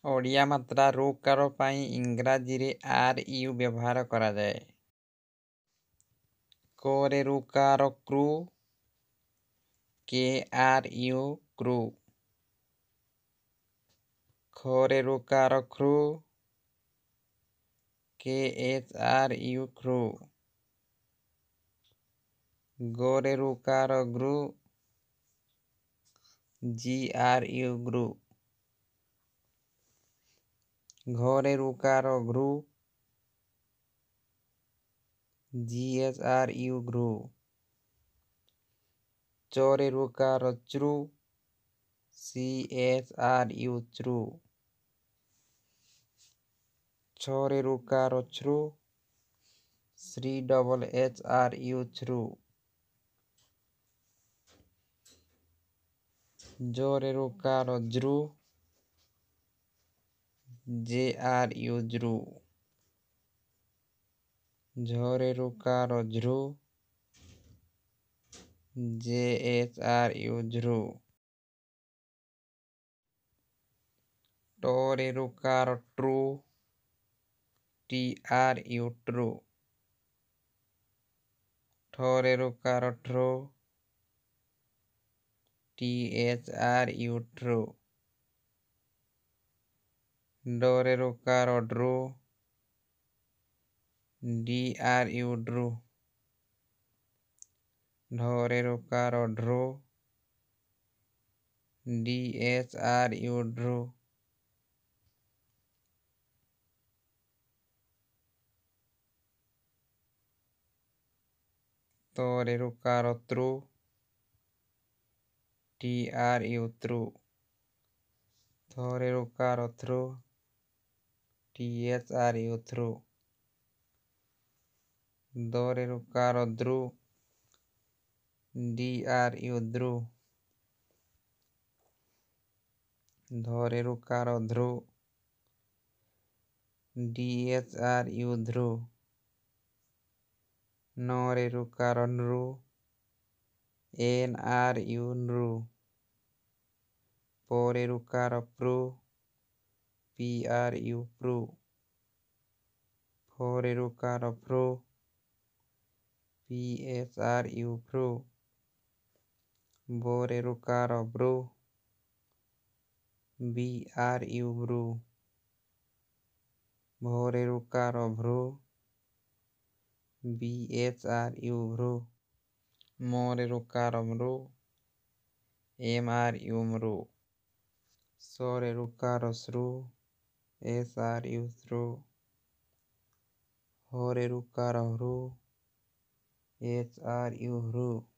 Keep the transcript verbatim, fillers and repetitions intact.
ଓଡ଼ିଆ ମାତ୍ରା ଋ କାର ପାଇଁ ଇଂରାଜୀରେ are you ବ୍ୟବହାର କରାଯାଏ। କ ରେ ଋ କାର କୃ, କେ ଆର୍ you କୃ। ଖ ରେ ଋ କାର ଖୃ, କେ ଏଚ୍ ଆର୍ you ଖୃ। ଗ ରେ ଋ କାର ଗୃ, ଜି ଆର୍ you ଗୃ। ଘ ରେ ଋ କାର ଘୃ, ଜି ଏଚ୍ ଆର୍ you ଘୃ। ଚ ରେ ଋ କାର ଚୃ, ସି ଏଚ୍ ଆର୍ you ଚୃ। ଛ ରେ ଋ କାର ଛୃ, ଶ୍ରୀ ଡବଲ୍ ଏଚ୍ ଆର୍ you ଛୃ। ଜ ରେ ଋ କାର ଜୃ, ଜେ ଆର୍ you ଜୃ। ଝ ରେ ଋ କାର ଝୃ, ଜେ ଏଚ୍ ଆର୍ you ଝୃ। ଟ ରେ ଋ କାର ଟ୍ରୁ, ଟି ଆର୍ you true. ଠ ରେ ଋ କାର ଠୃ, ଟି ଏଚ୍ ଆର୍ you ଠୃ। ଡ ରେ ଋ କାର ଡ୍ରୁ, ଡି ଆର୍ you ଡ୍ରୁ। ଢ ରେ ଋ କାର ଢୃ, ଡି ଏଚ୍ ଆର୍ you ଢୃ। ତ ରେ ଋ କାର ତୃ, ଟି ଆର୍ you ତୃ। ଥ ରେ ଋ କାର ଥୃ, ଟି ଏଚ୍ ଆର୍ you ଥୃ। ଦ ରେ ଋ କାର ଦୃ, ଡି ଆର୍ you ଦୃ। ଧରେ ଋ କାର ଧୃ, ଡି ଏଚ୍ ଆର୍ you ଧୃ। ନ ରେ ଋ କାର ନୃ, ଏନ୍ ଆର୍ you ନୃ। ପ ରେ ଋ କାର ପୃ, ପି ଆର୍ you ପୃ। ଫ ରେ ଋ କାର ଫୃ, ପି ଏଚ୍ ଆର୍ you ଫୃ। ବ ରେ ଋ car Bru, B R you ବୃ। ଭ ରେ ଋ କାର ଭୃ, ବି ଏଚ୍ ଆର୍ you ଭୃ। ମ ରେ ଋ କାର ମୃ, ଏମ୍ ଆର୍ you ମୃ। ସ ରେ ଋ କାର ସୃ, ଏସ୍ ଆର୍ you ସୃ। ହ ରେ ଋ କାର ହୃ, ଏଚ୍ ଆର୍ you ହୃ।